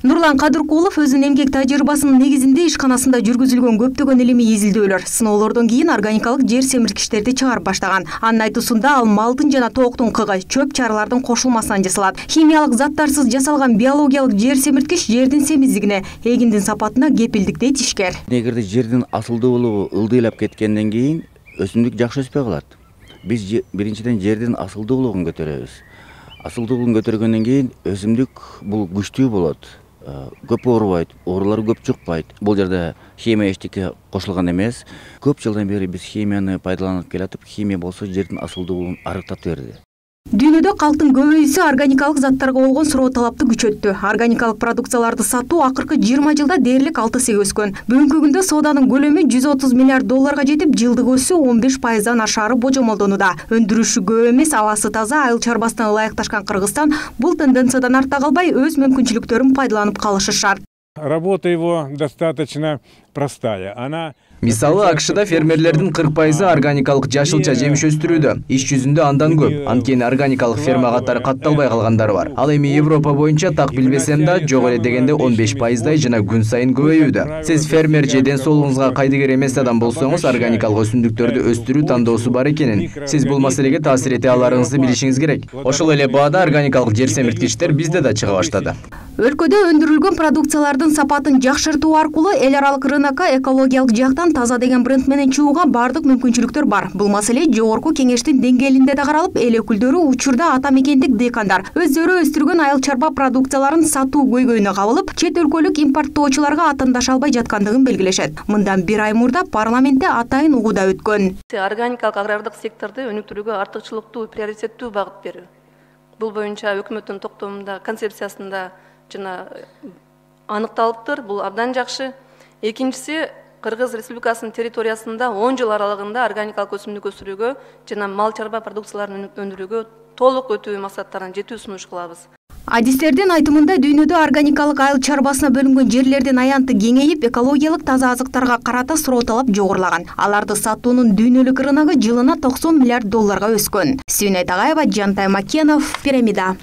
Нурлан Кадыркулов өзүнүн эмгек тажрыйбасынын негизинде ишканасында жүргүзүлгөн көптөгөн илимий изилдөөлөр, сыноолордон кийин органикалык жер семирткичтерди чыгарып баштаган. Анын айтуусунда ал малдын жана тооктун кыгы, чөп чаралардын кошулмасынан жасалат. Химиялык заттарсыз жасалган биологиялык жер семирткич жердин семиздигине, эгиндин сапатына кепилдикте тишкер. Эгерде жердин асылдуулугу ылдыйлап кеткенден кийин өсүмдүк жакшы өспөй калат. Биз биринчиден жердин асылдуулугун көтөрөбүз. Асылдуулугун көтөргөндөн кийин өсүмдүк бул күчтүү болот. Көп оорубайт, оорулар көп чыкпайт. Бул жерде химия эчтеке кошулган эмес. Көп жылдан бери биз химияны пайдаланып келатып, химия болсо жердин асылдуулугун арыктап берди. Дүйнөдө калктын көбөйүүсү органикалык заттарга болгон суроо талапты күчөттү. Органикалык продукцияларды сатуу акыркы 20 жылда дээрлик 6 өскөн. Бүгүнкү күндө сооданын көлөмү 130 миллиард долларга жетип, жылдык өсүү 15%дан ашаары божомолдонууда. Өндүрүшү көп эмес, абасы таза, айыл чарбасына ылайыкташкан Кыргызстан бул тенденциядан арта калбай өз мүмкүнчүлүктөрүн пайдаланып калышы шарт. Работа его достаточно простая. Мисалы, АКШда фермерлердин 40% органикалык жашылча жемиш өстүрүүдө. Иш жүзүндө андан көп. Анткени органикалык ферма катары катталбай калгандары бар. Ал эми Европа боюнча так билбесем да, жок эле дегенде 15%дай жана күн сайын көбөйүүдө. Сиз фермер же ден соолугуңузга кайдыгер эмес адам болсоңуз, органикалык өсүмдүктөрдү өстүрүү тандоосу бар экенин, сиз бул маселеге таасир эте аларыңызды билишиңиз керек. Ошол эле баада органикалык жер семирткичтер бизде да чыга баштады. Өлкөдө өндүрүлгөн продукциялардын сапатын жакшыртуу аркылуу эл аралык рынокко экологиялык жактан таза деген бренд менен чыгууга бардык мүмкүнчүлүктөр бар. Бул маселе жогорку кеңештин деңгээлинде да каралып, эл өкүлдөрү учурда ата мекендик дыйкандар өздөрү өстүргөн айыл чарба продукцияларын сатуу көйгөйүнө кабылып, чет өлкөлүк импорттоочуларга атандаша албай жаткандыгын белгилешет. Мындан 1 ай мурда парламентте атайын угууда өткөн. Органикалык агрардык секторду өнүктүрүүгө артыкчылыктуу, приоритеттүү багыт берүү. Бул боюнча өкмөттүн токтомунда, концепциясында жана аныкталыптыр. Бул абдан жакшы. Экинчиси, Кыргыз Республикасынын территориясында 10 жыл аралыгында органикалык өсүмдүк өсүрүүгө жана мал чарба продукцияларын өндүрүүгө толук өтүү максаттарына жетүү сунуш кылабыз. Адистердин айтымында дүйнөдө органикалык айыл чарбасына бөлүнгөн жерлердин аянты кеңейип, экологиялык таза азыктарга карата суроо талап жогорулаган. Аларды сатуунун дүйнөлүк рыногу жылына 90 миллиард долларга өскөн. Сүйнөй Тагаева, Жантай Макенов, Пирамида.